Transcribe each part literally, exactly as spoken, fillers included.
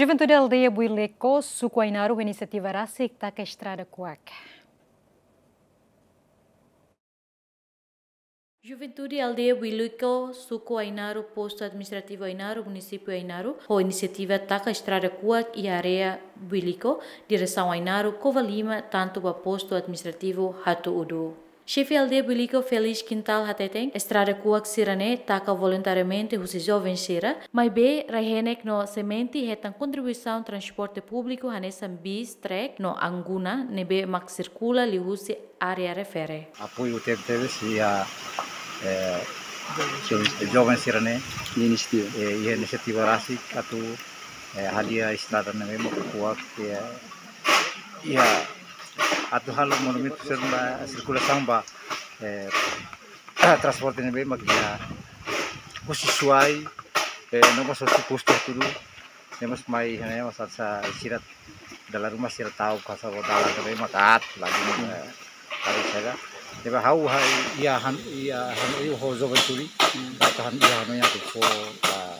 Juventude Aldeia Builiko, Suku Ainaro, inisiativa rasik taka estrada kuak. Juventude Aldeia Builiko, Suku Ainaro, Postu Administrativu Ainaro, Munisípiu Ainaro, ho inisiativa taka estrada kuak iha área Builiko, diresaun Ainaro, Covalima, tantu ba Postu Administrativu Hatu Udu. Xefe Aldeia Builiko Feliz Quintal hateten, estrada kuak sira-ne'e taka voluntariamente husi joven sira, maibé rai-henek no semente hetan kontribuisaun transporte públiku hanesan bis, trek no anguna ne'ebé mak sirkula liuhusi área refere. Apoiu tebetebes iha, eh, joven, joven sira-ne'e, inisiativa, eh, iha inisiativa rasik atu, eh, hadi'a estrada ne'ebé mak kuak, eh, iha atu halo movimentu sira ba sirkulasaun ba, eh, transporte ne'ebé mak iha husi Suai, eh, no mós husi Postu Hatu Udu, no mós mai, no mós asa sira dala ruma sira ta'uk kasa bo dalan ne'ebé mak aat lagi, eh, lagi saja. Ne'ebé ha'u hanoin, iha hanoin ho juventude, atu han, iha hanoin atu fó, ah,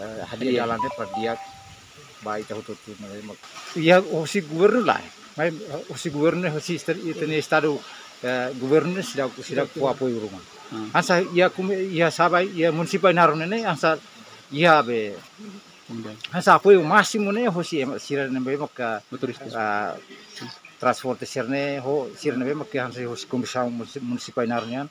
eh, hadi'a, hadi'a dalan ne'e para di'ak ba ita hotu-hotu ne'ebé mak. Iha husi governu lae. Mai husi governu, husi esta-, ita-nia estadu, eh, governu seidauk, seidauk fó apoiu ruma. Hmm. Hanesan iha kumi-, iha Sabai, iha munisípiu Ainaro ne'e, hanesan iha be. Kemudian. Hanesan apoiu másimu ne'e husi ema sira ne'ebé maka, motorista, ah, transporte sira-ne'e, ho sira ne'ebé maka hanesan husi komisaun munisi-, munisípiu Ainaro nian.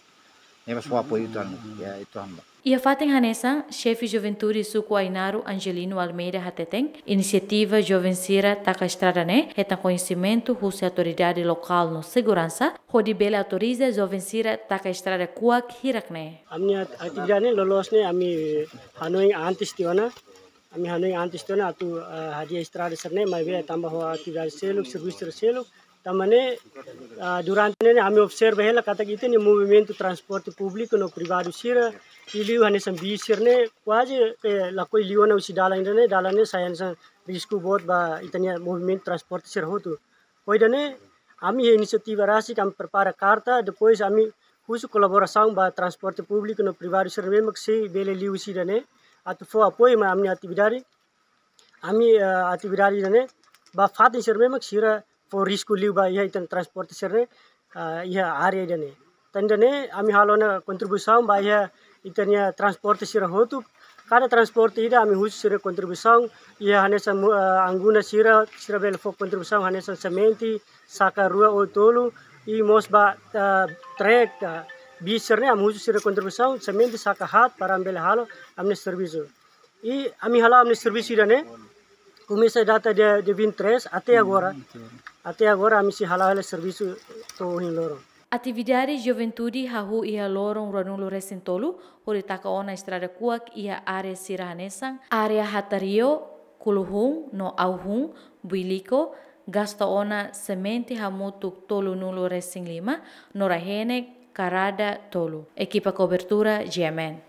Ne'e mós fó apoiu tan, ya, itu hamba. Iha fatin hanesan, Xefe Juventude Suku Ainaro Angelino Almeida hateten, inisiativa joven sira taka estrada ne'e hetan koñesimentu husi autoridade lokál no seguransa, hodi bele autoriza joven sira taka estrada kuak hirak ne'e. Ami-nia at-, atividade ne'e loloos ne'e ami hanoin antes tiha ona, ami hanoin antes tiha ona atu, eh, hadi'a estrada sira-ne'e, maibé tanba ho atividade seluk, servisu sira seluk, tanba ne'e, ah, durante ne'e ami observa hela katak ita-nia movimentu transporte públiku no privadu sira, liuliu hanesan bis sira-ne'e, kuaze, eh, lakohi liu ona husi dalan ida-ne'e, dalan ne'e sai hanesan risku boot ba ita-nia movimentu transporte sira hotu. Ho ida-ne'e, ami iha inisiativa rasik, ami prepara karta, depois ami husu kolaborasaun ba transporte públiku no privadu sira ne'ebé mak sei bele liu husi ida-ne'e, atu fó apoiu mai ami-nia atividade, ami, eh, atividade ida-ne'e, ba fatin sira ne'ebé mak sira fó risku liu ba iha ita-nia transporte sira-ne'e, eh, iha área ida-ne'e. Tan ida-ne'e, ami halo ona kontribuisaun ba iha ita-nia transporte sira hotu. Kada transporte ida ami husu sira kontribuisaun, iha hanesan mu-, eh, anguna sira, sira bele fó kontribuisaun hanesan semente, saka rua ou tolu, i mós ba, eh, trek, eh, bis sira-ne'e ami husu sira kontribuisaun, semente saka haat para ami bele halo ami-nia servisu. I ami hala'o ami-nia servisu ida-ne'e, komesa data dia, dia vinte e três até agora. Até agora ami sei hala'o hela servisu to'o ohin loron. Atividade juventude hahú iha loron ruanulu-resin-tolu, hodi taka ona estrada kuak iha área sira hanesan, área Hatario, Kuluhun no Auhun, Builiko, gasta ona semente hamutuk tolunulu-resin-lima, no rai-henek karada tolu. Ekipa kobertura, G M N.